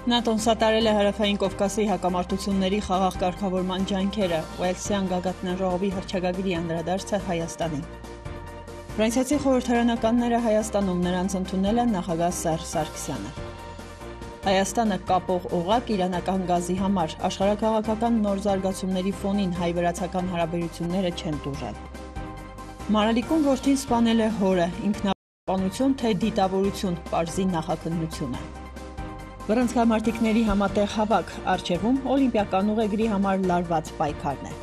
ՆԱՏՕ-ն սատարել է Հարավային Կովկասի հակամարտությունների խաղաղ կարգավորման ջանքերը, Ուելսյան գագաթնաժողովի հռչակագրի անդրադարձը Հայաստանին։ Ֆրանսիացի խորհրդարանականները Հայաստանում նրանց ընդունել են նախագահ Սերժ Սարգսյանը։ Հայաստանը կապող օղակ իրանական գազի համար, աշխարհաքաղաքական նոր զարգացումների ֆոնին հայ-վրացական հարաբերությունները չեն տուժել։ Մարալիկուն որդին սպանել է հորը, ինքնապաշտպանություն թե դիտավորություն, պարզի նախաքննությունը։ Բռնցքամարտիկների համատեղ հավաք, առջևում օլիմպիական ուղեգրի համար լարված պայքարն է։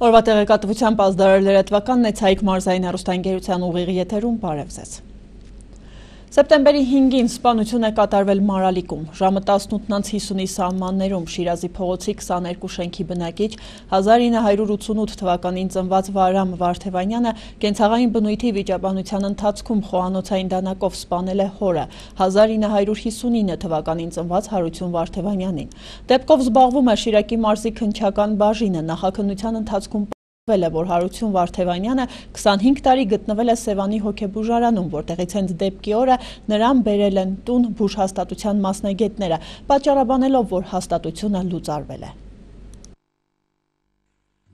Օրվա տեղեկատվությամբ ազդարար լրատվականն է Ցայիկ մարզային հեռուստաընկերության ուղիղ եթերում, բարև ձեզ։ Սեպտեմբերի 5-ին սպանություն է կատարվել Մարալիկում, ժամը 18:50-ի սահմաններում Շիրազի փողոցի 22 շենքի բնակիչ 1988 թվականին ծնված Վահրամ Վարդևանյանը կենցաղային բնույթի վիճաբանության ընթացքում խոհանոցային դանակով սպանել է հորը 1959 թվականին ծնված Հարություն Վարդևանյանին։ Դեպքով զբաղվում է Շիրակի մարզի քննչական բաժինը, նախաքննության ընթացքում որ Հարություն Վարդևանյանը 25 տարի գտնվել է Սևանի հոգեբուժարանում, որտեղից հենց դեպքի օրը նրան բերել են տուն բուժհաստատության մասնագետները, պատճառաբանելով, որ հաստատությունը լուծարվել է։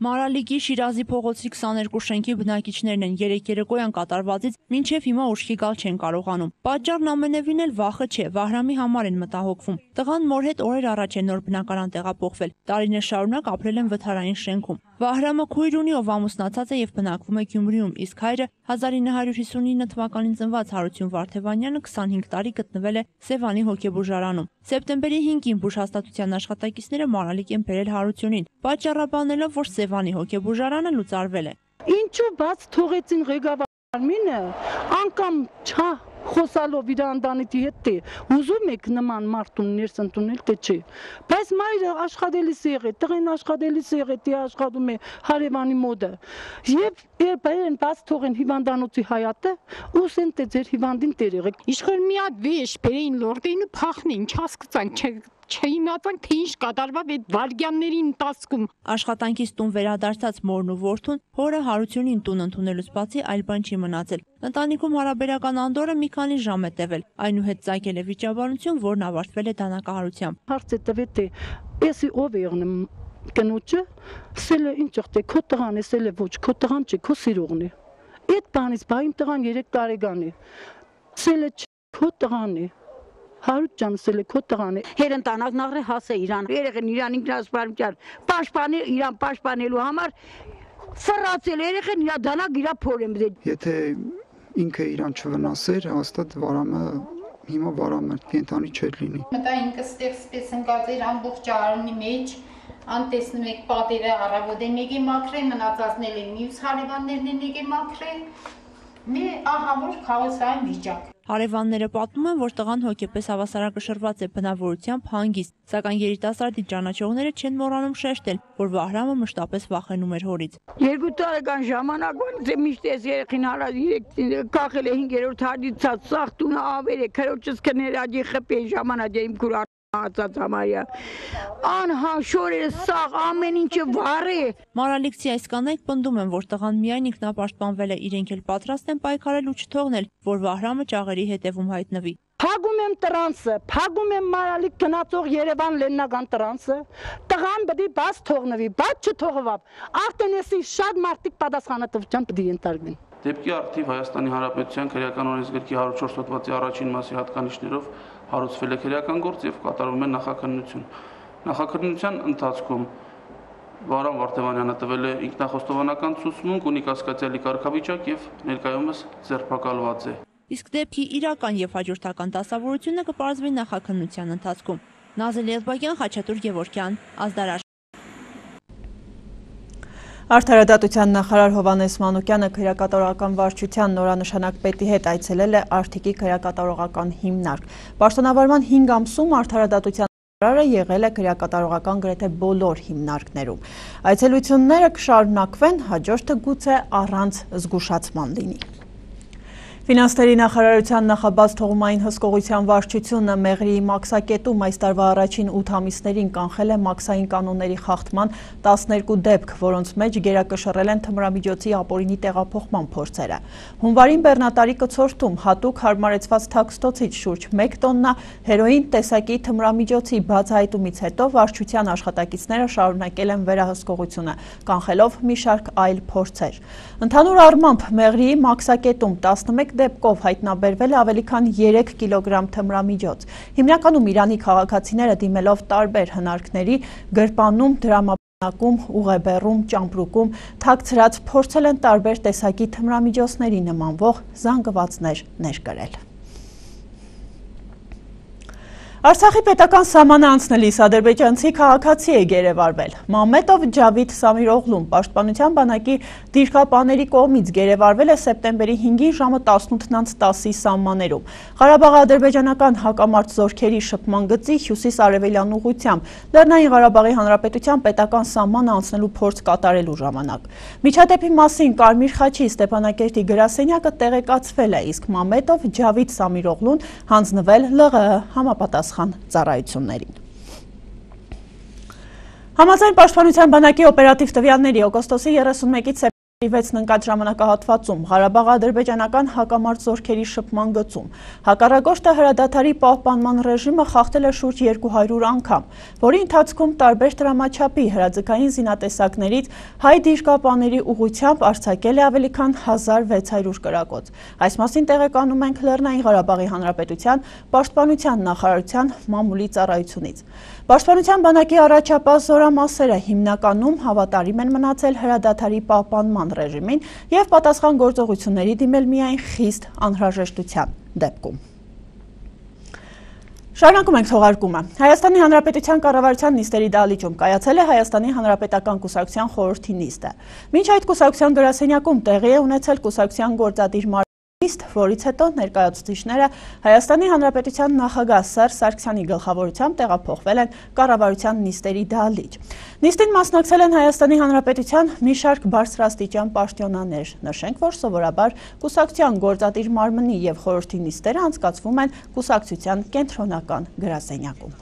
Մարալիկի Շիրազի փողոցի 22 շենքի բնակիչներն են երեկոյան կատարվածից մինչև հիմա ուշքի գալ չեն կարողանում։ Պատճառն ամենևին էլ վախը չէ, Վահրամի համար են մտահոգվում։ Տղան մոր հետ օրեր առաջ է նոր բնակարան տեղափոխվել, տարիներ շարունակ ապրել են վթարային շենքում։ Վահրամը քույր ունի, ով ամուսնացած է եւ բնակվում է Գյումրիում, իսկ հայրը 1959 թվականին ծնված Հարություն Վարդևանյանը 25 տարի գտնվել է Սևանի հոգեբուժարանում։ Սեպտեմբերի 5-ին բուժհաստատության աշխատակիցները Մարալիկ են բերել Հարությունին, պատճառաբանելով, որ Սևանի հոգեբուժարանը լուծարվել է։ Ինչու բաց թողեցին ղեկավարմինը, անգամ խոսալով իր ընտանիքի հետ է, ուզում եք նման մարդուն ներս ընդունել, թե չէ։ Բայց մայրը աշխատելիս է եղել, տղեն աշխատելիս է եղել, դե աշխատում է հարևանի մոտը։ Եվ բերեն բաց թողեն հիվանդանոցի հայատը, ուսեն թե ձեր հիվանդին տեր եղեք։ Իշխոր մի հատ վեշ բերեին լորդեին ու փախնեին, չհասկացան, չիմացան, թե ինչ կատարվավ այդ վարգյանների ընթացքում։ Աշխատանքից տուն վերադարձած մորն ու որդուն հորը Հարությունին տուն ընդունելուց բացի այլ բան չի մնացել։ Ընտանիքում հարաբերական անդորը մի քանի ժամ է տևել, այնուհետ ծագել է վիճաբանություն, որն ավարտվել է դանակահարությամբ։ Հարց է տվել թե էսի ով է եղնում կնոջը, սել է ինչ եղել, քո տղան է, սել է ոչ, քո տղան չէ, քո սիրողն է։ Այդ բանից բա իմ տղան 3 տարեկան է։ Սել է քո տղան է։ Հարութ ջան, սել է քո տղան է։ Հերընտանակն աղրե հասե իրան։ Երեխեն իրան ինքնասպանության պաշտպանել, իրան պաշտպանելու համար սրացել երեխեն իր դանակ իր փորեմ դե։ Եթե ինքը իրան չվնասեր, հաստատ Վարամը հիմա Վարամը կենտանի չէր լինի։ Մտա ինքը ստեղ սպես ընկած էր ամբողջ արունի մեջ, անտեսնում եք պատերը առավոտը մեկ է մաքրել, մնացածն էլ մյուս հարևաններն են եկել մաքրել։ Մի ահավոր քաոսային վիճակ։ Հարևանները պատմում են, որ տղան հոգեպես հավասարակշռված է բնավորությամբ հանգիստ, սակայն երիտասարդի ճանաչողները չեն մոռանում շեշտել, որ Վահրամը մշտապես վախենում էր հորից։ 2 տարեկան ժամանակվանից միշտ ես երեխին կախել է 5-րդ հադիցած, սաղ տունը ավեր է, քրոջս կներաջի խպի ժամանակ իմ քուր ածած համարյա անհաշոր է սաղ ամեն ինչը վառ է։ Մարալիկցի այս կանայք պնդում են, որ տղան միայն ինքնապաշտպանվել է, իրենք էլ պատրաստ են պայքարել ու չթողնել, որ Վահրամը ճաղերի հետևում հայտնվի։ Փագում եմ տրանսը, փագում եմ Մարալիկ գնացող Երևան լեննական տրանսը, տղան պետք է բաց թողնվի, բաց չթողվավ, արդեն էսի շատ մարդիկ պատասխանատվության պետք է ենթարկվեն։ Դեպքի արդիվ Հայաստանի Հանրապետության քրեական օրենսգրքի 104 հոդվածի առաջին մասի հատկանիշներով հարուցվել է քրեական գործ եւ կատարվում է նախաքննություն։ Նախաքննության ընթացքում Վահրամ Վարդևանյանը տվել է ինքնախոստովանական ցուցմունք, ունի կասկածյալի կարգավիճակ եւ ներկայումս ձերբակալված է։ Իսկ դեպքի իրական եւ հաջորդական դասավորությունը կպարզվի նախաքննության ընթացքում։ Նազել Եղբակյան, Խաչատուր Գևորգյան, ազդարար։ Արդարադատության նախարար Հովհաննես Մանուկյանը քրեակատարողական վարչության նորանշանակ պետի հետ այցելել է Արթիկի քրեակատարողական հիմնարկ։ Պաշտոնավարման 5 ամսում արդարադատության նախարարը եղել է քրեակատարողական գրեթե բոլոր հիմնարկներում։ Այցելությունները կշարունակվեն, հաջորդը գուցե առանց զգուշացման լինի։ Ֆինանսների նախարարության նախաբաց թողումային հսկողության վարչությունը Մեղրիի մաքսակետում այս տարվա առաջին 8 ամիսներին կանխել է մաքսային կանոնների խախտման 12 դեպք, որոնց մեջ գերակշռել են թմրամիջոցի ապօրինի տեղափոխման փորձերը։ Հունվարին բեռնատարի կցորդում հատուկ հարմարեցված թաքստոցից շուրջ 1 տոննա հերոին տեսակի թմրամիջոցի բացահայտումից հետո վարչության աշխատակիցները շարունակել են վերահսկողությունը, կանխելով մի շարք այլ փորձեր։ Ընդհանուր առմամբ Մեղրիի մաքսակետում 11 դեպքով հայտնաբերվել է ավելի քան 3 կիլոգրամ թմրամիջոց։ Հիմնականում Իրանի քաղաքացիները դիմելով տարբեր հնարքների գրպանում, դրամապանակում, ուղեբեռում, ճամպրուկում, թաքցրած փորձել են տարբեր տեսակի թմրամիջոցների նմանվող զանգվածներ ներկրել։ Արցախի պետական սահմանը անցնելիս ադրբեջանցի քաղաքացի է գերեվարվել։ Մամմետով Ջավիդ Սամիրօղլուն պաշտպանության բանակի դիրքապաների կողմից գերեվարվել է սեպտեմբերի 5-ին ժամը 18:10-ի սահմաններում։ Ղարաբաղի ադրբեջանական հակամարտ զորքերի շփման գծի հյուսիս-արևելյան ուղղությամբ Լեռնային Ղարաբաղի Հանրապետության պետական սահմանը անցնելու փորձ կատարելու ժամանակ։ Միջադեպի մասին Կարմիր խաչի Ստեփանակերտի գրասենյակը տեղեկացվել է, իսկ Մամմետով Ջավիդ Սամիրօղլուն հանձնվել ԼՂՀ համապատասխան ծառայություններին։ Համաձայն պաշտպանության բանակի օպերատիվ տվյալների օգոստոսի 31-ից 6 ընկած ժամանակահատվածում Ղարաբաղ-ադրբեջանական հակամարտ զորքերի շփման գծում հակառակորդը հրադադարի պահպանման ռեժիմը խախտել է շուրջ 200 անգամ, որի ընթացքում տարբեր տրամաչափի հրաձգային զինատեսակներից հայ դիրքապաների ուղղությամբ արձակել է ավելի քան 1600 կրակոց։ Այս մասին տեղեկանում ենք Լեռնային Ղարաբաղի Հանրապետության պաշտպանության նախարարության մամուլի ծառայությունից։ Պաշտպանության բանակի առաջապահ զորամասերը հիմնականում հավատարիմ են մնացել հրադադարի պահպանման ռեժիմին և պատասխան գործողությունների դիմել միայն խիստ անհրաժեշտության դեպքում։ Շարունակում ենք թողարկումը։ Հայաստանի Հանրապետության կառավարության նիստերի դահլիճում կայացել է Հայաստանի Հանրապետական կուսակցության խորհրդի նիստը։ Մինչ այդ կուսակցության գրասենյակում տեղի է ունեցել կուսակցության գործադիր նիստ, որից հետո ներկայացուցիչները Հայաստանի Հանրապետության նախագահ Սերժ Սարգսյանի գլխավորությամբ տեղափոխվել են կառավարության նիստերի դահլիճ։ Նիստին մասնակցել են Հայաստանի Հանրապետության մի շարք բարձրաստիճան պաշտոնյաներ։ Նշենք, որ սովորաբար կուսակցության գործադիր մարմնի և խորհրդի նիստերը անցկացվում են կուսակցության կենտրոնական գրասենյակում։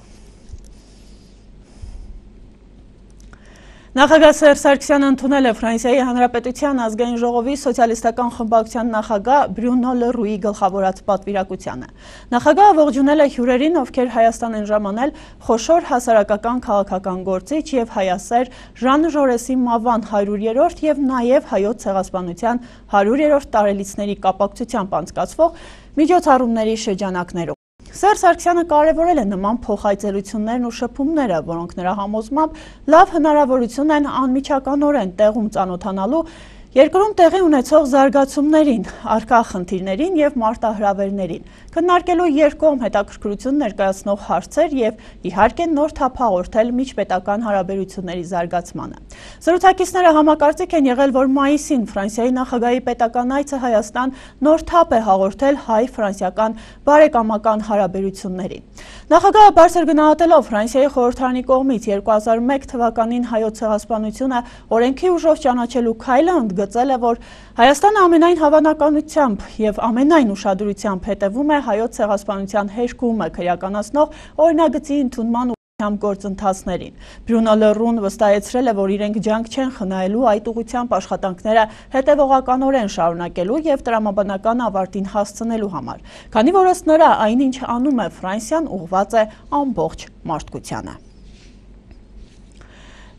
Նախագահ Սերժ Սարգսյանը ընդունել է Ֆրանսիայի Հանրապետության ազգային ժողովի սոցիալիստական խմբակցության նախագահ Բրյունո Լռուի գլխավորած պատվիրակությանը։ Նախագահը ողջունել է հյուրերին, ովքեր Հայաստան են ժամանել խոշոր հասարակական քաղաքական գործիչ և հայասեր Ժան Ժորեսի մահվան 100-րդ և նաև Հայոց ցեղասպանության 100-րդ տարելիցների կապակցությամբ անցկացվող միջոցառումների շրջանակներում։ Սերժ Սարգսյանը կարևորել է նման փոխայցելություններն ու շփումները, որոնք նրա համոզմամբ լավ հնարավորություն են անմիջականորեն տեղում ծանոթանալու երկրում տեղի ունեցող զարգացումներին, առկա խնդիրներին և մարտահրավերներին, քննարկելու երկկողմ հետաքրքրություն ներկայացնող հարցեր և իհարկե նոր թափ հաղորդել միջպետական հարաբերությունների զարգացմանը։ Զրուցակիցները համակարծիք են եղել, որ մայիսին Ֆրանսիայի նախագահի պետական այցը Հայաստան նոր թափ է հաղորդել հայ-ֆրանսիական բարեկամական հարաբերություններին։ Նախագահը բարձր գնահատելով Ֆրանսիայի խորհրդարանի կողմից 2001 թվականին հայոց ցեղասպանությունը օրենքի ուժով ճանաչելու քայլը ընդգծել է, որ Հայաստանը ամենայն հավանականությամբ և ամենայն ուշադրությամբ հետևում է հայոց ցեղասպանության հերկումը քրեականացնող օրինագծի ընդունման գործընթացներին։ Բրյունո Լռուն վստահեցրել է, որ իրենք ջանք չեն խնայելու այդ ուղղությամբ աշխատանքները հետևողականորեն շարունակելու և տրամաբանական ավարտին հասցնելու համար, քանի որ ըստ նրա այնինչ անում է Ֆրանսիան ուղղված է ամբողջ մարդկությանը։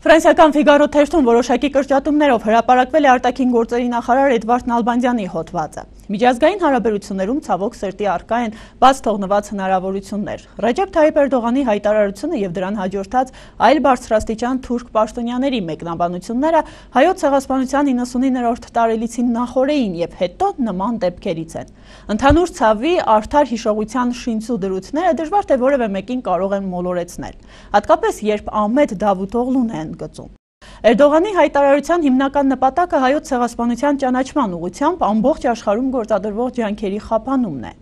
Ֆրանսիական Ֆիգարո թերթում որոշակի կրճատումներով հրապարակվել է արտաքին գործերի նախարար Էդվարդ Նալբանդյանի հոդվածը։ Միջազգային հարաբերություններում ցավոք սրտի առկա են բաց թողնված հնարավորություններ։ Ռեջեփ Թայիպ Էրդողանի հայտարարությունը և դրան հաջորդած այլ բարձրաստիճան թուրք պաշտոնյաների մեկնաբանությունները հայոց ցեղասպանության 99-րդ տարելիցին նախօրեին և հետո նման դեպքերից են։ Ընդհանուր ցավի, արդար հիշողության շինծու դրույթները դժվար թե որևէ մեկին կարող են մոլորեցնել, հատկապես երբ Ահմեդ Դավութօղլուն է ընդգծում։ Էրդողանի հայտարարության հիմնական նպատակը հայոց ցեղասպանության ճանաչման ուղղությամբ ամբողջ աշխարհում գործադրվող ջանքերի խափանումն է։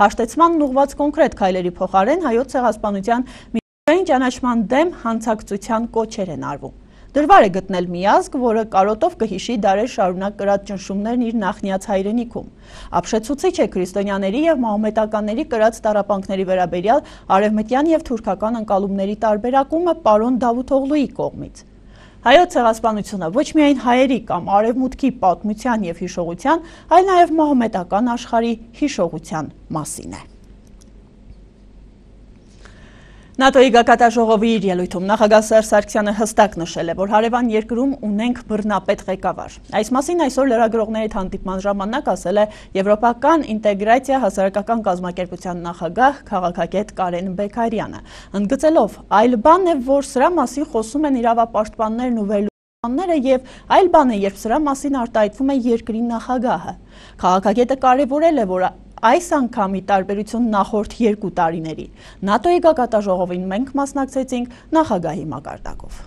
Հաշտեցման ուղղված կոնկրետ քայլերի փոխարեն հայոց ցեղասպանության միջազգային ճանաչման դեմ հանցակցության կոչեր են արվում։ Դրվար է գտնել միազգ, որը կարոտով կհիշի դարեր շարունակ կրած ճնշումներն իր նախնիած հայրենիքում։ Ապշեցուցիչ է քրիստոնյաների եւ մահմեդականների կրած տառապանքների վերաբերյալ արևմտյան եւ թուրքական ընկալումների տարբերակումը պարոն Դավութօղլուի կողմից։ Հայոց ցեղասպանությունը ոչ միայն հայերի կամ արևմուտքի պատմության եւ հիշողության, այլ նաեւ մահմեդական աշխարհի հիշողության մասին է։ ՆԱՏՕ-ի գագաթնաժողովի իր ելույթում նախագահ Սերժ Սարգսյանը հստակ նշել է, որ հարևան երկրում ունենք բռնապետ ղեկավար։ Այս մասին այսօր լրագրողների հետ հանդիպման ժամանակ ասել է Եվրոպական ինտեգրացիա հասարակական կազմակերպության նախագահ քաղաքագետ Կարեն Բեկարյանը, ընդգծելով, այլ բան է, որ սրա մասին խոսում են իրավապաշտպաններն ու վերլուծողները եւ այլ բան է, երբ սրա մասին արտահայտվում է երկրի նախագահը։ Քաղաքագետը կարևորել է, որ այս անգամի տարբերություն նախորդ 2 տարիների։ ՆԱՏՕ-ի գագաթնաժողովին մենք մասնակցեցինք նախագահի մակարդակով։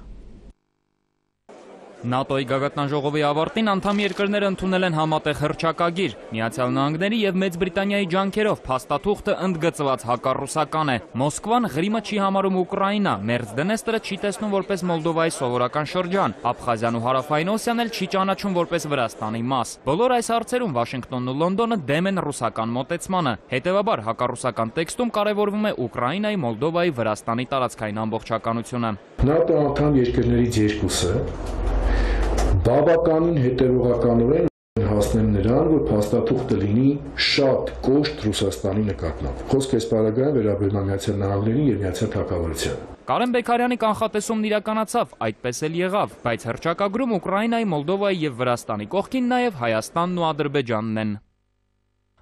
ՆԱՏՕ-ի գագաթնաժողովի ավարտին անդամ երկրները ընդունել են համատեղ հռչակագիր։ Միացյալ Նահանգների եւ Մեծ Բրիտանիայի ջանքերով փաստաթուղթը ընդգծված հակառուսական է։ Մոսկվան Ղրիմը չի համարում Ուկրաինա, Մերձ Դնեստրը չի տեսնում որպես Մոլդովայի սովորական շրջան, Աբխազիան ու Հարավային Օսիան էլ չի ճանաչում որպես Վրաստանի մաս։ Բոլոր այս հարցերում Վաշինգտոնն ու Լոնդոնը դեմ են ռուսական մոտեցմանը։ Հետևաբար հակառուսական տեքստում կարևորվում է Ուկրաինայի, Մոլդովայի, Վրաստանի տարածքային ամբողջականությունը։ ՆԱՏՕ անդամ երկրներից երկուսը բավականին հետևողականորեն հասնեն նրան, որ փաստաթուղթը լինի շատ կոշտ Ռուսաստանի նկատմամբ։ Խոսքը այս պարագայում վերաբերում է Միացյալ Նահանգներին եւ Միացյալ Թագավորությանը։ Կարեն Բեկարյանի կանխատեսումն իրականացավ, այդպես էլ եղավ, բայց հռչակագրում Ուկրաինայի, Մոլդովայի եւ Վրաստանի կողքին նաեւ Հայաստանն ու Ադրբեջանն են։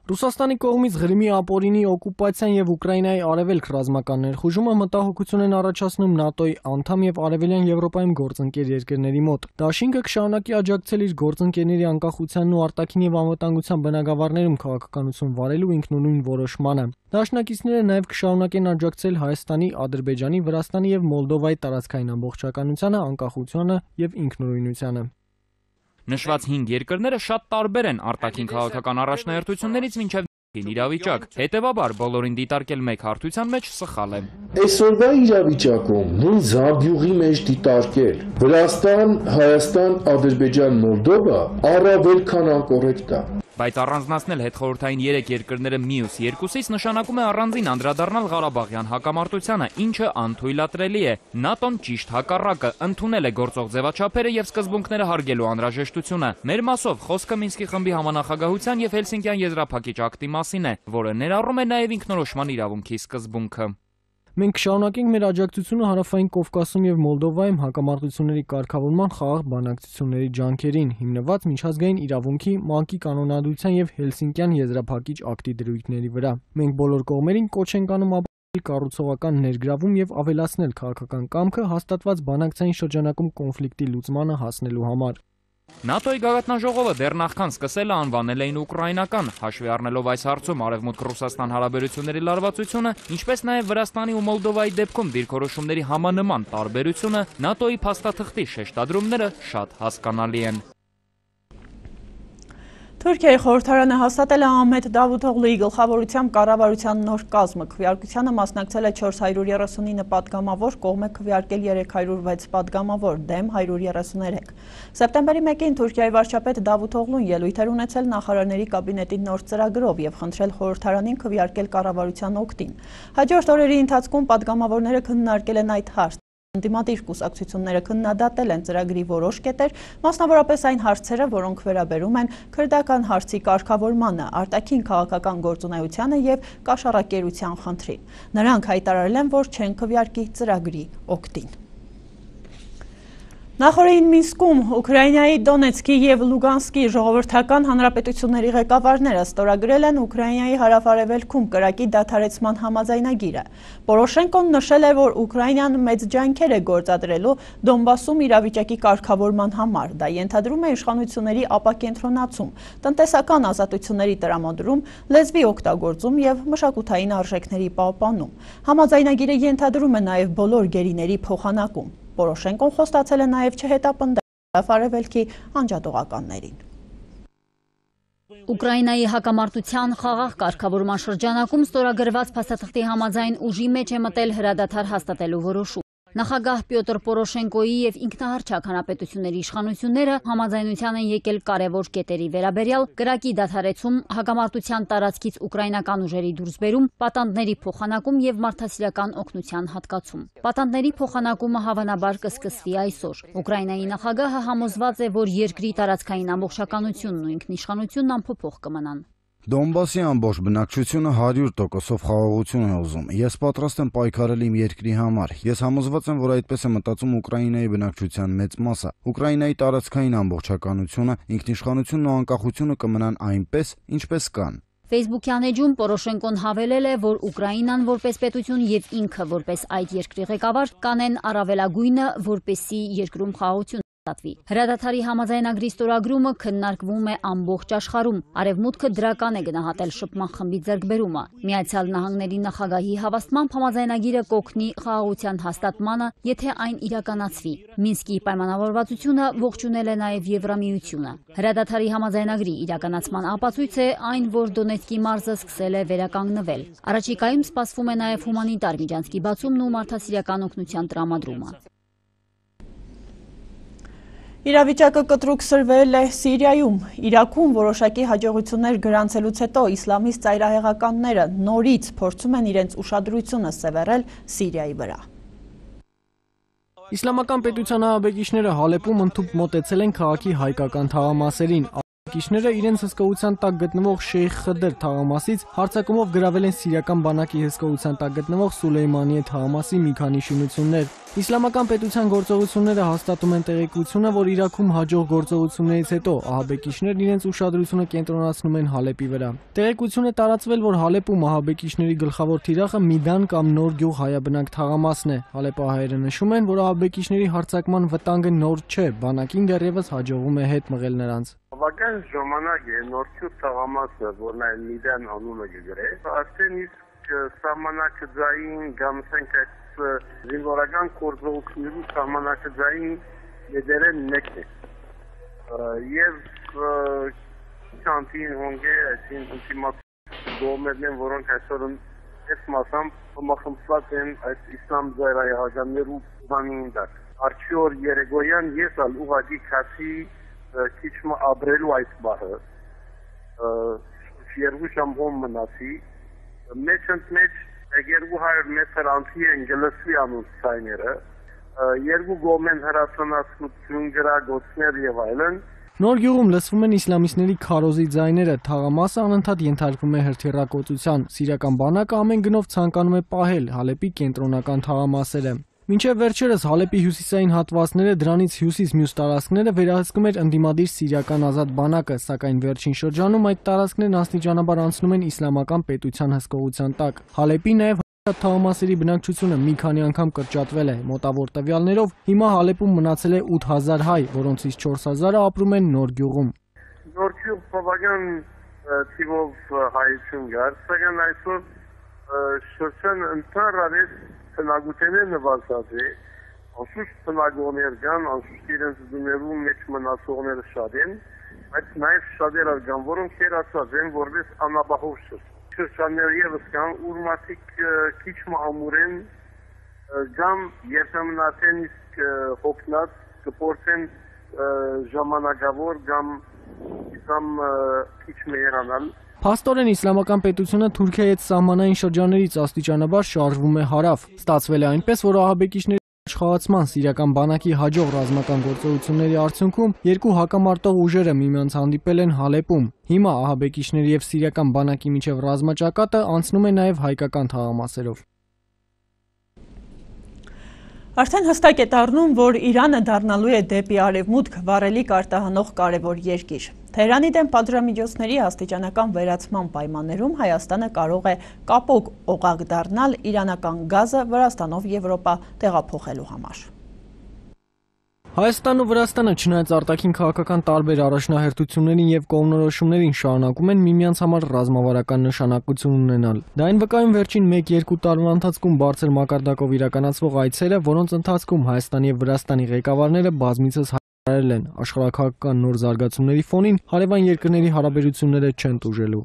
Ռուսաստանի կողմից Ղրիմի ապօրինի օկուպացիան եւ Ուկրաինայի արևելք ռազմական ներխուժումը մտահոգություն են առաջացնում ՆԱՏՕ-ի անդամ եւ Արևելյան Եվրոպայում գործընկեր երկրների մոտ։ Դաշինքը կշարունակի աջակցել իր գործընկերների անկախությանն ու արտաքին եւ անվտանգության բնագավառներում քաղաքականություն վարելու ինքնուրույն որոշմանը։ Դաշնակիցները նաեւ կշարունակեն աջակցել Հայաստանի, Ադրբեջանի, Վրաստանի եւ Մոլդովայի տարածքային ամբողջականությանը, անկախությանը եւ ինքնուրույնությանը։ Նշված 5 երկրները շատ տարբեր են արտաքին քաղաքական առաջնահերթություններից մինչև իրավիճակ։ Հետևաբար բոլորին դիտարկել մեկ հարթության մեջ սխալ է։ Այսօրվա իրավիճակում նույն զամբյուղի մեջ դիտարկել Վրաստան, Հայաստան, Ադրբեջան, Մոլդովա առավել քան անկոռեկտ է։ Բայց առանձնացնել հետխորհրդային 3 երկրները մյուս երկուսից նշանակում է առանձին անդրադառնալ Ղարաբաղյան հակամարտությանը, ինչը անթույլատրելի է։ ՆԱՏՕ-ն ճիշտ հակառակը ընդունել է գործող ձևաչափերը եւ սկզբունքները հարգելու անհրաժեշտությունը։ Մեր մասով խոսքը Մինսկի խմբի համանախագահության եւ Հելսինկյան եզրափակիչ ակտի մասին է, որը ներառում է նաեւ ինքնորոշման իրավունքի սկզբունքը։ Մենք կշարունակենք մեր աջակցությունը Հարավային Կովկասում եւ Մոլդովայում հակամարտությունների կարգավորման խաղաղ բանակցությունների ջանքերին, հիմնված միջազգային իրավունքի, ՄԱԿ-ի կանոնադրության եւ Հելսինկյան եզրափակիչ ակտի դրույթների վրա։ Մենք բոլոր կողմերին կոչ ենք անում ապահովել կառուցողական ներգրավում եւ ավելացնել քաղաքական կամքը հաստատված բանակցային շրջանակում կոնֆլիկտի լուծմանը հասնելու համար։ ՆԱՏՕ-ի գագաթնաժողովը դեռ նախքան սկսելը անվանել էին ուկրաինական, հաշվի առնելով այս հարցում Արևմուտք-Ռուսաստան հարաբերությունների լարվածությունը, ինչպես նաև Վրաստանի ու Մոլդովայի դեպքում դիրքորոշումների համանման տարբերությունը, ՆԱՏՕ-ի փաստաթղթի շեշտադրումները շատ հասկանալի են։ Թուրքիայի խորհրդարանը հաստատել է Ահմեդ Դավութօղլուի գլխավորությամբ կառավարության նոր կազմը։ Քվեարկությանը մասնակցել է 439 պատգամավոր, կողմ է քվեարկել 306 պատգամավոր, դեմ 133։ Սեպտեմբերի 1-ին Թուրքիայի վարչապետ Դավութօղլուն ելույթ էր ունեցել նախարարների կաբինետի նոր ծրագրով եւ խնդրել խորհրդարանին քվեարկել կառավարության օգտին։ Հաջորդ օրերի ընթացքում պատգամավորները քննարկել են այդ հարցը։ Ընդդիմադիր կուսակցությունները քննադատել են ծրագրի որոշ կետեր, մասնավորապես այն հարցերը, որոնք վերաբերում են քրդական հարցի կարգավորմանը, արտաքին քաղաքական գործունեությանը եւ կաշառակերության խնդրին։ Նրանք հայտարարել են, որ չեն քվեարկի ծրագրի օգտին։ Նախորդին Մինսկում Ուկրաինայի Դոնեցկի եւ Լուգանսկի ժողովրդական հանրապետությունների ղեկավարները ստորագրել են Ուկրաինայի հարավ-արևելքում կրակի դադարեցման համաձայնագիրը։ Պորոշենկոն նշել է, որ Ուկրաինան մեծ ջանքեր է գործադրելու Դոնբասում իրավիճակի կարգավորման համար։ Դա ենթադրում է իշխանությունների ապակենտրոնացում, տնտեսական ազատությունների տրամադրում, լեզվի օգտագործում եւ մշակութային արժեքների պահպանում։ Համաձայնագիրը ենթադրում է նաեւ բոլոր գերիների փոխանակում։ Պորոշենկոն խոստացել է նաև չհետապնդել արևելքի անջատողականներին։ Ուկրաինայի հակամարտության խաղաղ կարգավորման շրջանակում ստորագրված փաստաթղթի համաձայն ուժի մեջ է մտել հրադադար հաստատելու որոշում։ Նախագահ Պյոտր Պորոշենկոյի եւ ինքնահռչակ հանրապետությունների իշխանությունները համաձայնության են եկել կարևոր կետերի վերաբերյալ կրակի դադարեցում, հակամարտության տարածքից ուկրաինական ուժերի դուրսբերում, պատանդների փոխանակում եւ մարդասիրական օգնության հատկացում։ Պատանդների փոխանակումը հավանաբար կսկսվի այսօր։ Ուկրաինայի նախագահը համոզված է, որ երկրի տարածքային ամբողջականությունն ու ինքնիշխանությունն անփոփոխ կմնան։ Դոնբասի ամբողջ բնակչությունը 100%-ով խաղաղություն է ուզում։ Ես պատրաստ եմ պայքարել իմ երկրի համար։ Ես համոզված եմ, որ այդպես է մտածում Ուկրաինայի բնակչության մեծ մասը։ Ուկրաինայի տարածքային ամբողջականությունը, ինքնիշխանությունն ու անկախությունը կմնան այնպես, ինչպես կան։ Facebook-յան էջում Պորոշենկոն հավելել է, որ Ուկրաինան որպես պետություն եւ ինքը որպես այդ երկրի ղեկավար կանեն առավելագույնը, որպեսզի երկրում խաղաղություն ստացվի։ Հրադադարի համաձայնագրի ստորագրումը քննարկվում է ամբողջ աշխարհում։ Արևմուտքը դրական է գնահատել շփման խմբի ձեռքբերումը։ Միացյալ Նահանգների նախագահի հավաստմամբ համաձայնագիրը կօգնի խաղաղության հաստատմանը, եթե այն իրականացվի։ Մինսկի պայմանավորվածությունը ողջունել է նաև Եվրամիությունը։ Հրադադարի համաձայնագրի իրականացման ապացույց է այն, որ Դոնեցկի մարզը սկսել է վերականգնվել։ Առաջիկայում սպասվում է նաև հումանիտար միջանցքի բացումն ու մարդասիրական օգնության տրամադրումը։ Իրավիճակը կտրուկ սրվել է Սիրիայում, Իրաքում որոշակի հաջողություններ գրանցելուց հետո իսլամիստ ծայրահեղականները նորից փորձում են իրենց ուշադրությունը սևեռել Սիրիայի վրա։ Իսլամական պետության ահաբեկիչները Հալեպում ընդհուպ մոտեցել են քաղաքի հայկական թաղամասերին։ Ահաբեկիչները իրենց հսկողության տակ գտնվող Շեյխ Խդր թաղամասից հարձակումով գրավել են սիրիական բանակի հսկողության տակ գտնվող Սուլեյմանիե թաղամասի մի քանի շինություններ։ Իսլամական պետության գործողությունները հաստատում են տեղեկությունը, որ Իրաքում հաջող գործողություններից հետո ահաբեկիչներն իրենց ուշադրությունը կենտրոնացնում են Հալեպի վրա։ Տեղեկություն է տարածվել, որ Հալեպում ահաբեկիչների գլխավոր թիրախը Միդան կամ Նոր գյուղ հայաբնակ թաղամասն է։ Հալեպահայերը նշում են, որ ահաբեկիչների հարձակման վտանգը նոր չէ, բանակին դեռևս հաջողվում է հետ մղել նրանց։ Բավական ժամանակ է Նորքյուղ թաղամասը, որն այն Միդան անունը գրե, արդեն իսկ սահմանակցային կամ զինվորական գործողությունների սահմանակցային մեջերեն մեկն է։ Եվ քանտին հոնգե այսին ինտիմացիա գոմերն, որոնք այսօր այս մասամբ մախմսված են այս իսլամ ծայրահեղականներու բանին դակ։ Արդյոք երեգոյան ես ալ ուղղակի քացի քիչ ապրելու այս բառը երկու շամբոն մնացի մեջ 200 մետր անցի են գլսվի անունց ցայները երկու գոմեն հրացանացություն գրագոցներ եւ այլն։ Նոր գյուղում լսվում են իսլամիստների քարոզի ձայները, թաղամասը անընդհատ ենթարկվում է հրթիռակոծության, սիրիական բանակը ամեն գնով ցանկանում է պահել Հալեպի կենտրոնական թաղամասերը։ Մինչև վերջերս Հալեպի հյուսիսային հատվածները, դրանից հյուսիս մյուս տարածքները վերահսկում էր ընդդիմադիր սիրիական ազատ բանակը, սակայն վերջին շրջանում այդ տարածքներն աստիճանաբար անցնում են իսլամական պետության հսկողության տակ։ Հալեպի նաև թաղամասերի բնակչությունը մի քանի անգամ կրճատվել է։ Մոտավոր տվյալներով հիմա Հալեպում մնացել է 8000 հայ, որոնցից 4000-ը ապրում են Նոր գյուղում։ Նոր գյուղ բավական թիվով հայություն կար, սակայն այսօր շրջան ընդհանրապես բնակութենը նվազած է, անշուշտ բնակողներ կան, անշուշտ իրենց դուներու մեջ մնացողները շատ են, բայց նաև շատեր կան, որոնք հերացած են որպես անապահով շրջաններ ևս կան, ուր մարդիկ քիչ ամուր են, կամ երբեմն արդեն իսկ հոգնած կփորձեն ժամանակավոր կամ քիչ մերանալ։ Փաստորեն իսլամական պետությունը Թուրքիայի հետ սահմանային շրջաններից աստիճանաբար շարժվում է հարավ։ Ստացվել է այնպես, որ ահաբեկիչների աշխատման սիրիական բանակի հաջող ռազմական գործողությունների արդյունքում երկու հակամարտող ուժերը միմյանց հանդիպել են Հալեպում։ Հիմա ահաբեկիչների եւ սիրիական բանակի միջև ռազմաճակատը անցնում է նաեւ հայկական թաղամասերով։ Արդեն հստակ է դառնում, որ Իրանը դառնալու է դեպի արևմուտք վառելիք արտահանող կարևոր երկիր։ Թեհրանի դեմ պատժամիջոցների աստիճանական վերացման պայմաններում Հայաստանը կարող է կապող օղակ դառնալ իրանական գազը Վրաստանով Եվրոպա տեղափոխելու համար։ Հայաստանն ու Վրաստանը չնայած արտաքին քաղաքական տարբեր առաջնահերթություններին եւ կողմնորոշումներին շարունակում են միմյանց համար ռազմավարական նշանակություն ունենալ։ Դա այն վկայում վերջին 1-2 տարվա ընթացքում բարձր մակարդակով իրականացվող այցերը, որոնց ընթացքում Հայաստանի եւ Վրաստանի ղեկավարները բազմիցս հայտարարել են աշխարհաքաղաքական նոր զարգացումների ֆոնին հարևան երկրների հարաբերությունները չեն տուժելու։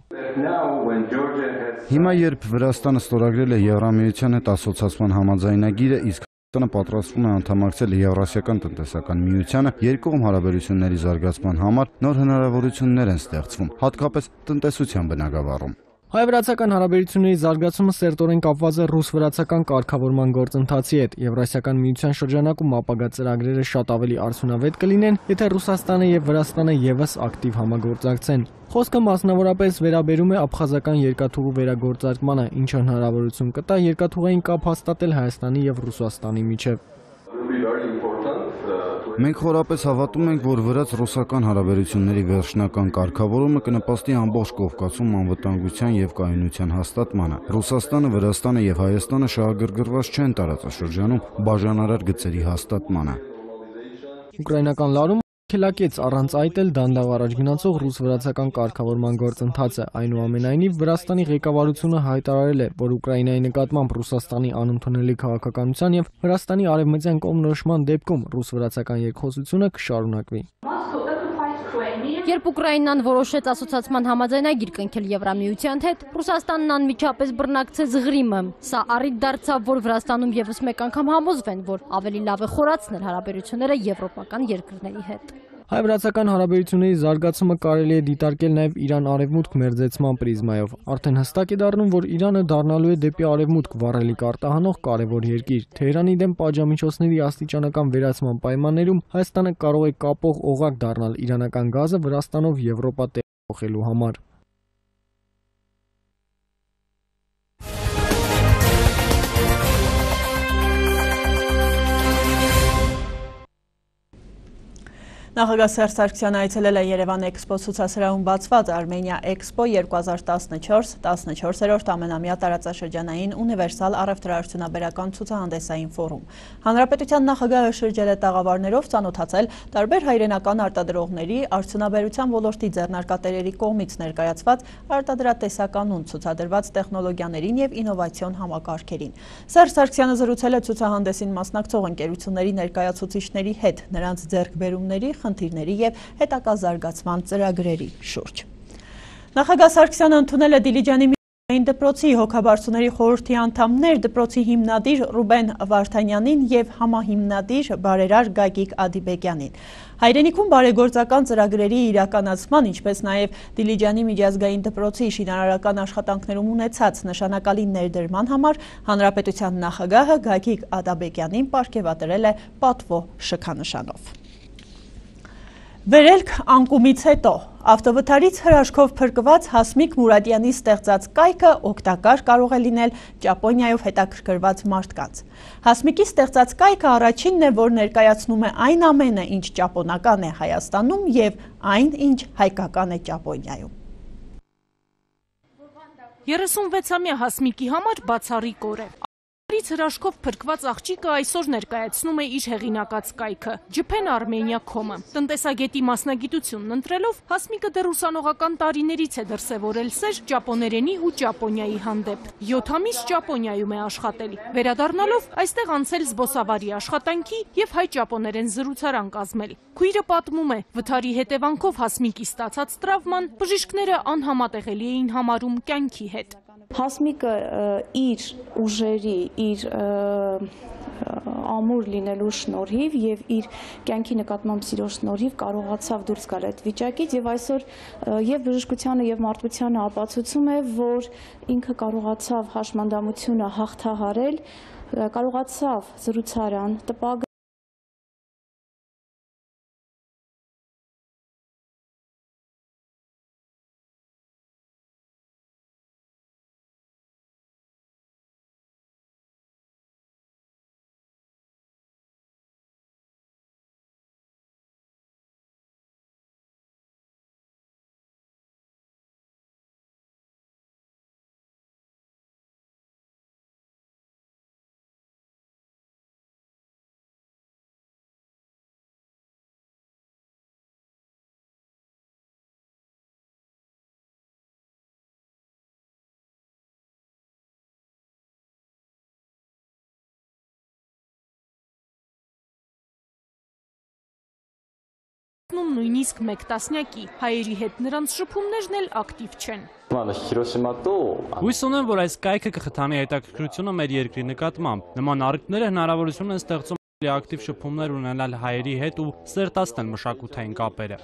Հիմա երբ Վրաստանը ստորագրել է Եվրամիության հետ ասոցացման համաձայնագիրը, իսկ Հայաստանը պատրաստվում է անդամակցել Եվրասիական տնտեսական միությանը, երկկողմ հարաբերությունների զարգացման համար նոր հնարավորություններ են ստեղծվում, հատկապես տնտեսության բնագավառում։ Հայ-վրացական հարաբերությունների զարգացումը սերտորեն կապված է ռուս-վրացական կարգավորման գործընթացի հետ։ Եվրասիական միության շրջանակում ապագա ծրագրերը շատ ավելի արդյունավետ կլինեն, եթե Ռուսաստանը եւ Վրաստանը եւս ակտիվ համագործակցեն։ Խոսքը մասնավորապես վերաբերում է աբխազական երկաթուղու վերագործարկմանը, ինչը հնարավորություն կտա երկաթուղային կապ հաստատել Հայաստանի եւ Ռուսաստանի միջեւ։ Մենք խորապես հավատում ենք, որ վրաց-ռուսական հարաբերությունների վերջնական կարգավորումը կնպաստի ամբողջ Կովկասում անվտանգության եւ կայունության հաստատմանը։ Ռուսաստանը, Վրաստանը եւ Հայաստանը շահագրգռված չեն տարածաշրջանում բաժանարար գծերի հաստատմանը։ Ուկրաինական լարում քելակեց առանց այդ էլ դանդաղ առաջ գնացող ռուս-վրացական կարգավորման գործընթացը։ Այնուամենայնիվ Վրաստանի ղեկավարությունը հայտարարել է, որ Ուկրաինայի նկատմամբ Ռուսաստանի անընդունելի քաղաքականության եւ Վրաստանի արևմտյան կողմնորոշման դեպքում ռուս-վրացական երկխոսությունը կշարունակվի։ Երբ Ուկրաինան որոշեց ասոցիացիան համաձայնագիր կնքել Եվրամիության հետ, Ռուսաստանն անմիջապես բռնակցեց Ղրիմը։ Սա առիթ դարձավ, որ Վրաստանում եւս մեկ անգամ համոզվեն, որ ավելի լավ է խորացնել հարաբերությունները եվրոպական երկրների հետ։ Հայ-վրացական հարաբերությունների զարգացումը կարելի է դիտարկել նաև Իրան-արևմուտք մերձեցման պրիզմայով։ Արդեն հստակ է դառնում, որ Իրանը դառնալու է դեպի արևմուտք վառելիք արտահանող կարևոր երկիր։ Թեհրանի դեմ պատժամիջոցների աստիճանական վերացման պայմաններում Հայաստանը կարող է կապող օղակ դառնալ իրանական գազը Վրաստանով Եվրոպա տեղափոխելու համար։ Նախագահ Սերժ Սարգսյանը այցելել է Երևան Էքսպո ցուցասրահում բացված Armenia Expo 2014 14-րդ ամենամյա տարածաշրջանային ունիվերսալ առևտրաարդյունաբերական ցուցահանդեսային ֆորում։ Հանրապետության նախագահը շրջել է տաղավարներով, ծանոթացել տարբեր հայրենական արտադրողների, արդյունաբերության ոլորտի ձեռնարկատերերի կողմից ներկայացված արտադրատեսականուն ցուցադրված տեխնոլոգիաներին եւ ինովացիոն համակարգերին։ Սերժ Սարգսյանը զրուցել է ցուցահանդեսին մասնակցող ընկերությունների ներկայացուցիչների հետ, նրանց ձեռքբերումների, խնդիրների եւ հետագա զարգացման ծրագրերի շուրջ։ Նախագահ Սարգսյանը ընդունել է Դիլիջանի միայն դպրոցի հոգաբարձուների խորհրդի անդամներ, դպրոցի հիմնադիր Ռուբեն Վարդանյանին եւ համահիմնադիր բարերար Գագիկ Ադիբեկյանին։ Հայրենիքում բարեգործական ծրագրերի իրականացման, ինչպես նաև Դիլիջանի միջազգային դպրոցի շինարարական աշխատանքներում ունեցած նշանակալի ներդրման համար Հանրապետության նախագահը Գագիկ Ադիբեկյանին պարգևատրել է պատվո շքանշանով։ Վերելք անկումից հետո ավտովթարից հրաշքով փրկված Հասմիկ Մուրադյանի ստեղծած կայքը օգտակար կարող է լինել Ճապոնիայով հետաքրքրված մարդկանց։ Հասմիկի ստեղծած կայքը առաջինն է, որ ներկայացնում է այն ամենը, ինչ ճապոնական է Հայաստանում եւ այն, ինչ հայկական է Ճապոնիայում։ 36-ամյա Հասմիկի համար բացառիկ օր է։ Հրաշքով փրկված աղջիկը այսօր ներկայացնում է իր հեղինակած կայքը Japan Armenia.com-ը։ Տնտեսագետի մասնագիտությունն ընտրելով Հասմիկը դեռ ուսանողական տարիներից է դրսևորել սեր ճապոներենի ու Ճապոնիայի հանդեպ։ 7 ամիս Ճապոնիայում է աշխատել։ Վերադառնալով այստեղ անցել զբոսավարի աշխատանքի եւ հայ-ճապոներեն զրուցարան կազմել։ Քույրը պատմում է, վթարի հետևանքով Հասմիկի ստացած տրավման բժիշկները անհամատեղելի էին համարում կյանքի հետ։ Հասմիկը իր ուժերի, իր ամուր լինելու շնորհիվ եւ իր կյանքի նկատմամբ սիրո շնորհիվ կարողացավ դուրս գալ այդ վիճակից եւ այսօր եւ բժշկությանը եւ մարդկությանը ապացուցում է, որ ինքը կարողացավ հաշմանդամությունը հաղթահարել, կարողացավ զրուցարան տպագրել նույնիսկ մեկ տասնյակի, հայերի հետ նրանց շփումներն էլ ակտիվ չեն։ Հույս ունեմ, որ այս կայքը կխթանի հետաքրքրությունը մեր երկրի նկատմամբ։ Նման առիթները հնարավորություն են ստեղծում ակտիվ շփումներ ունենալ հայերի հետ ու սերտացնել մշակութային կապերը։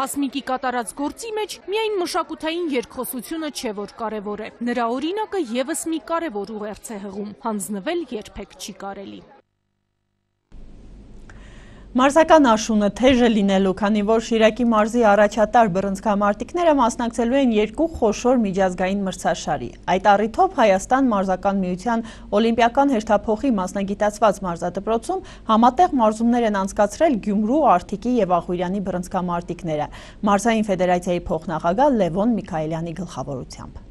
Հասմիկի կատարած գործի մեջ միայն մշակութային երկխոսությունը չէ, որ կարևոր է։ Նրա օրինակը եւս մի կարևոր ուղերձ է հղում՝ հանձնվել երբեք չի կարելի։ Մարզական աշունը թեժ է լինելու, քանի որ Շիրակի մարզի առաջատար բռնցքամարտիկները մասնակցելու են երկու խոշոր միջազգային մրցաշարի։ Այդ առիթով Հայաստան մարզական միության օլիմպիական հերթափոխի մասնագիտացված մարզադպրոցում համատեղ մարզումներ են անցկացրել Գյումրու, Արթիկի եւ Աղուրյանի բռնցքամարտիկները։ Մարզային ֆեդերացիայի փոխնախագահ Լևոն Միքայելյանի գլխավորությամբ։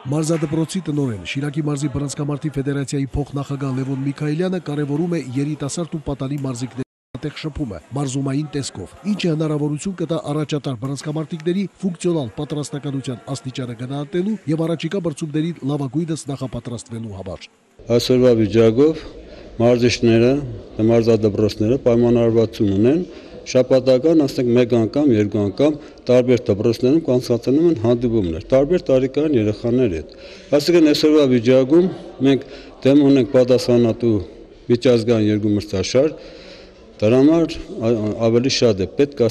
Մարզադպրոցի տնօրեն Շիրակի մարզի բռնցքամարտի ֆեդերացիայի փոխնախագահ Լևոն Միքայելյանը կարևորում է երիտասարդ ու պատանի մարզիկների համատեղ շփումը մարզումային տեսքով, ինչը հնարավորություն կտա առաջատար բռնցքամարտիկների ֆունկցիոնալ պատրաստականության աստիճանը գնահատելու եւ առաջիկա բրցումների լավագույնս նախապատրաստվելու համար։ Այսօրվա վիճակով մարզիչները, մարզադպրոցները պայմանավորվածություն ունեն շաբաթական ասենք մեկ անգամ, երկու անգամ տարբեր դպրոցներում կանցկացնում են հանդիպումներ, տարբեր տարիքային երեխաների հետ։ Այսինքն այսօրվա վիճակում մենք դեմ ունենք պատասխանատու միջազգային երկու մրցաշար, դրա համար ավելի շատ է պետք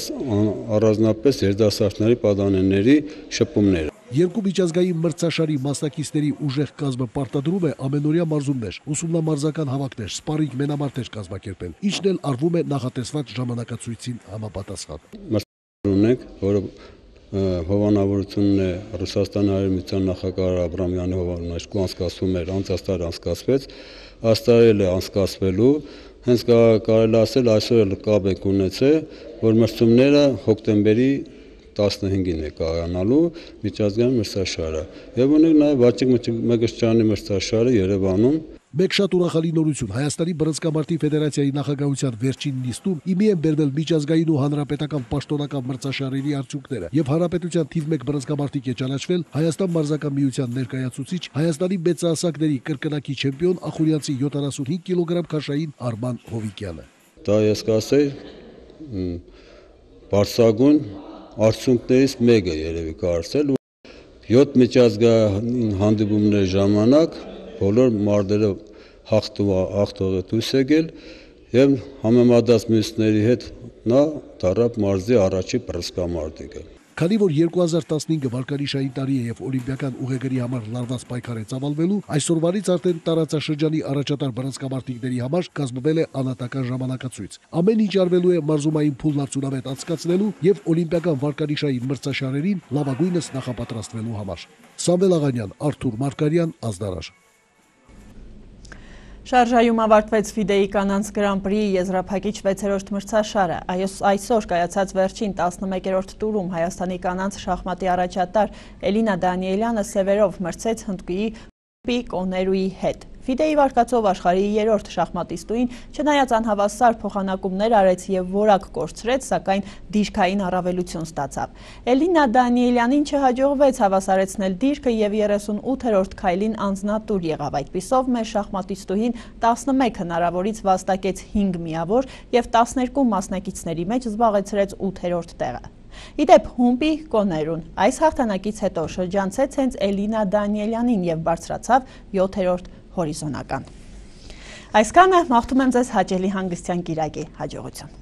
առանձնապես երիտասարդների պատանիների շփումները։ Երկու միջազգային մրցաշարի մասնակիցների ուժեղ կազմը պարտադրում է ամենօրյա մարզումներ, ուսումնամարզական հավաքներ, սպարինգ մենամարտեր կազմակերպել, ինչն էլ արվում է նախատեսված ժամանակացույցին համապատասխան։ Մրցաշար ունենք, որը հովանավորությունն է Ռուսաստանի Հարևանության նախագահ Աբրամյանի հովանաշկու անցկացում էր, անցած տարի անցկացվեց, աստարել է անցկացվելու, հենց կարելի ասել այսօր էլ կապ եք ունեցել, որ մրցումները հոկտեմբերի 15-ին է կայանալու միջազգային մրցաշարը եւ ունենք նաեւ Վաչիկ Մկրտչյանի մրցաշարը Երևանում։ Մեկ շատ ուրախալի նորություն Հայաստանի բռնցքամարտի ֆեդերացիայի նախագահության վերջին նիստում իմի են բերվել միջազգային ու հանրապետական պաշտոնական մրցաշարերի արդյունքները եւ հանրապետության թիվ 1 բռնցքամարտիկ է ճանաչվել Հայաստան մարզական միության ներկայացուցիչ Հայաստանի մեծահասակների կրկնակի չեմպիոն Ախուրյանցի 75 կիլոգրամ քաշային Արման Հովիկյանը։ Դա ես կասեի բարձրագույն արդյունքներից մեկը երևի կարծել 7 միջազգային հանդիպումների ժամանակ բոլոր մարտերը հաղթողը դուրս եկել եւ համեմատած մյուսների հետ նա դառավ մարզի առաջի բռնցքամարտիկը։ Քանի որ 2015 վարկանիշային տարի է եւ օլիմպիական ուղեգրի համար լարված պայքար է ծավալվելու, այսօրվանից արդեն տարածաշրջանի առաջատար բռնցքամարտիկների համար կազմվել է անհատական ժամանակացույց։ Ամեն ինչ արվելու է մարզումային փուլն արդյունավետ անցկացնելու եւ օլիմպիական վարկանիշային մրցաշարերին լավագույնս նախապատրաստվելու համար։ Սամվել Աղանյան, Արթուր Մարկարյան, Ազդարար։ Շարժայում ավարտվեց FIDE-ի կանանց Grand-Prix եզրափակիչ 6-րդ մրցաշարը։ Այսօր կայացած վերջին 11-րդ տուրում Հայաստանի կանանց շախմատի առաջատար Էլինա Դանիելյանը սևերով մրցեց Հնդկուի Կոներուի հետ։ FIDE-ի վարկածով աշխարհի 3-րդ շախմատիստուին չնայած անհավասար փոխանակումներ արեց եւ որակ կորցրեց, սակայն դիրքային առավելություն ստացավ։ Էլինա Դանիելյանին չհաջողվեց հավասարեցնել դիրքը եւ 38-րդ քայլին անձնատուր եղավ։ Այդպիսով մեր շախմատիստուհին 11 հնարավորից վաստակեց 5 միավոր եւ 12 մասնակիցների մեջ զբաղեցրեց 8-րդ տեղը։ Իդեպ Հումպի Կոներուն այս հաղթանակից հետո շրջանցեց հենց Էլինա Դանիելյանին եւ բարձրացավ 7-րդ հորիզոնական։ Այսքանը մաղթում եմ ձեզ հաճելի հանգստյան կիրակի, հաջողություն։